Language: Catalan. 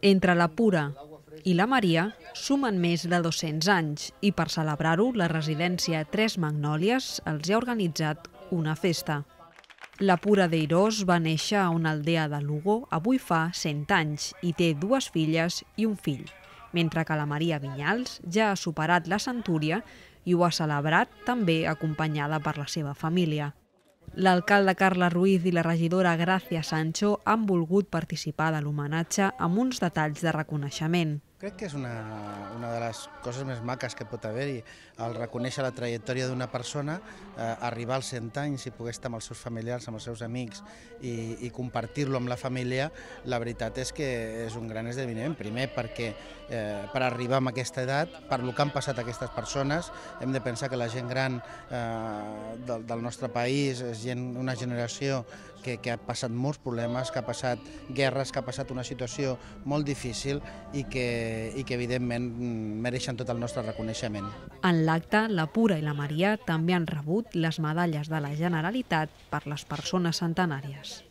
Entre la Pura i la Maria sumen més de 200 anys i per celebrar-ho la residència Tres Magnòlies els ha organitzat una festa. La Pura d'Eirós va néixer a una aldea de Lugo avui fa 100 anys i té 2 filles i un fill, mentre que la Maria Vinyals ja ha superat la centúria i ho ha celebrat també acompanyada per la seva família. L'alcalde Carles Ruiz i la regidora Gràcia Sancho han volgut participar de l'homenatge amb uns detalls de reconeixement. Crec que és una de les coses més maques que pot haver-hi, el reconèixer la trajectòria d'una persona, arribar als 100 anys i poder estar amb els seus familiars, amb els seus amics i compartir-lo amb la família. La veritat és que és un gran esdeveniment, primer perquè per arribar a aquesta edat, per lo que han passat aquestes persones, hem de pensar que la gent gran del nostre país és una generació que ha passat molts problemes, que ha passat guerres, que ha passat una situació molt difícil i que evidentment mereixen tot el nostre reconeixement. En l'acte, la Pura i la Maria també han rebut les medalles de la Generalitat per les persones centenàries.